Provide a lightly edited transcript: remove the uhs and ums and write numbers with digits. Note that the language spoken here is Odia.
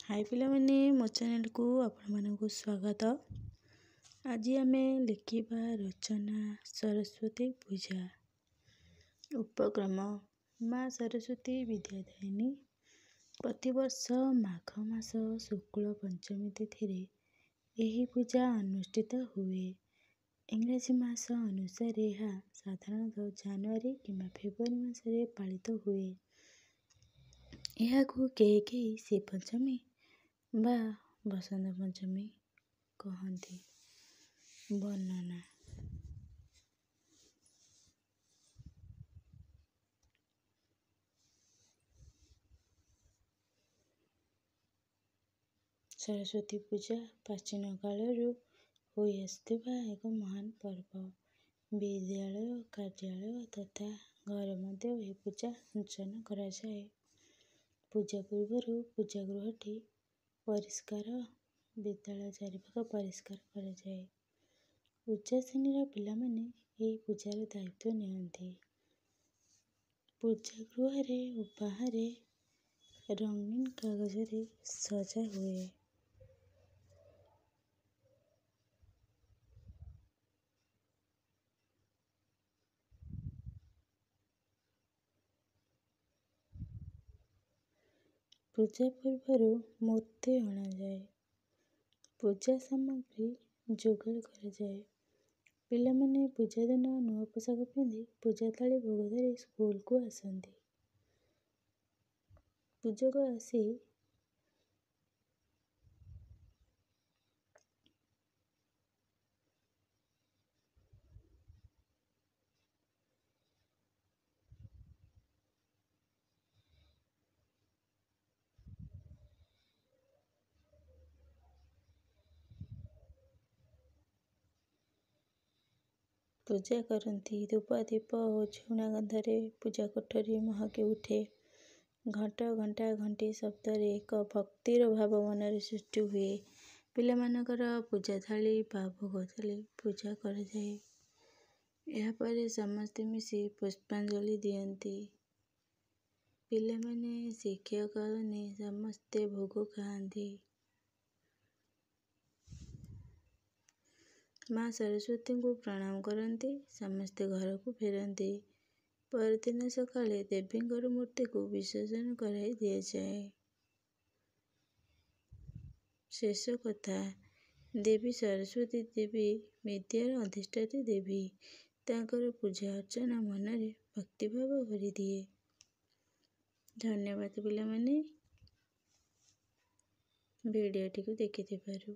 ହାଇ ପିଲାମାନେ, ମୋ ଚ୍ୟାନେଲକୁ ଆପଣମାନଙ୍କୁ ସ୍ୱାଗତ। ଆଜି ଆମେ ଲେଖିବା ରଚନା ସରସ୍ୱତୀ ପୂଜା। ଉପକ୍ରମ: ମା ସରସ୍ୱତୀ ବିଦ୍ୟାଦାୟିନୀ। ପ୍ରତିବର୍ଷ ମାଘ ମାସ ଶୁକ୍ଳ ପଞ୍ଚମୀ ତିଥିରେ ଏହି ପୂଜା ଅନୁଷ୍ଠିତ ହୁଏ। ଇଂରାଜୀ ମାସ ଅନୁସାରେ ଏହା ସାଧାରଣତଃ ଜାନୁଆରୀ କିମ୍ବା ଫେବୃଆରୀ ମାସରେ ପାଳିତ ହୁଏ। ଏହାକୁ କେହି କେହି ଶ୍ରୀପଞ୍ଚମୀ ବା ବସନ୍ତ ପଞ୍ଚମୀ କହନ୍ତି। ବର୍ଣ୍ଣନା: ସରସ୍ୱତୀ ପୂଜା ପ୍ରାଚୀନ କାଳରୁ ହୋଇଆସୁଥିବା ଏକ ମହାନ ପର୍ବ। ବିଦ୍ୟାଳୟ, କାର୍ଯ୍ୟାଳୟ ତଥା ଘରେ ମଧ୍ୟ ଏହି ପୂଜା ଅର୍ଚ୍ଚନା କରାଯାଏ। ପୂଜା ପୂର୍ବରୁ ପୂଜା ଗୃହଟି ପରିଷ୍କାର, ବିଦ୍ୟାଳୟ ଚାରିପାଖ ପରିଷ୍କାର କରାଯାଏ। ଉଚ୍ଚ ଶ୍ରେଣୀର ପିଲାମାନେ ଏହି ପୂଜାର ଦାୟିତ୍ୱ ନିଅନ୍ତି। ପୂଜା ଗୃହରେ ଓ ବାହାରେ ରଙ୍ଗୀନ କାଗଜରେ ସଜା ହୁଏ। ପୂଜା ପୂର୍ବରୁ ମୂର୍ତ୍ତି ଅଣାଯାଏ। ପୂଜା ସାମଗ୍ରୀ ଯୋଗାଡ଼ କରାଯାଏ। ପିଲାମାନେ ପୂଜା ଦିନ ନୂଆ ପୋଷାକ ପିନ୍ଧି ପୂଜା ଥାଳି ଭୋଗ ଧରି ସ୍କୁଲକୁ ଆସନ୍ତି। ପୂଜକ ଆସି ପୂଜା କରନ୍ତି। ଧୂପ, ଦୀପ ଓ ଝୁଣା ଗନ୍ଧରେ ପୂଜା କୋଠରୀ ମହକି ଉଠେ। ଘଣ୍ଟ, ଘଣ୍ଟା, ଘଣ୍ଟି ଶବ୍ଦରେ ଏକ ଭକ୍ତିର ଭାବ ମନରେ ସୃଷ୍ଟି ହୁଏ। ପିଲାମାନଙ୍କର ପୂଜା ଥାଳି ବା ଭୋଗ ଥାଳି ପୂଜା କରାଯାଏ। ଏହାପରେ ସମସ୍ତେ ମିଶି ପୁଷ୍ପାଞ୍ଜଳି ଦିଅନ୍ତି। ପିଲାମାନେ, ଶିକ୍ଷକମାନେ ସମସ୍ତେ ଭୋଗ ଖାଆନ୍ତି। ମା ସରସ୍ୱତୀଙ୍କୁ ପ୍ରଣାମ କରନ୍ତି। ସମସ୍ତେ ଘରକୁ ଫେରନ୍ତି। ପରଦିନ ସକାଳେ ଦେବୀଙ୍କର ମୂର୍ତ୍ତିକୁ ବିସର୍ଜନ କରାଇ ଦିଆଯାଏ। ଶେଷ କଥା, ଦେବୀ ସରସ୍ୱତୀ ଦେବୀ ବିଦ୍ୟାର ଅଧିଷ୍ଠାତ୍ରୀ ଦେବୀ। ତାଙ୍କର ପୂଜା ଅର୍ଚ୍ଚନା ମନରେ ଭକ୍ତିଭାବ ଭରିଦିଏ। ଧନ୍ୟବାଦ ପିଲାମାନେ, ଭିଡ଼ିଓଟିକୁ ଦେଖିଥିବାରୁ।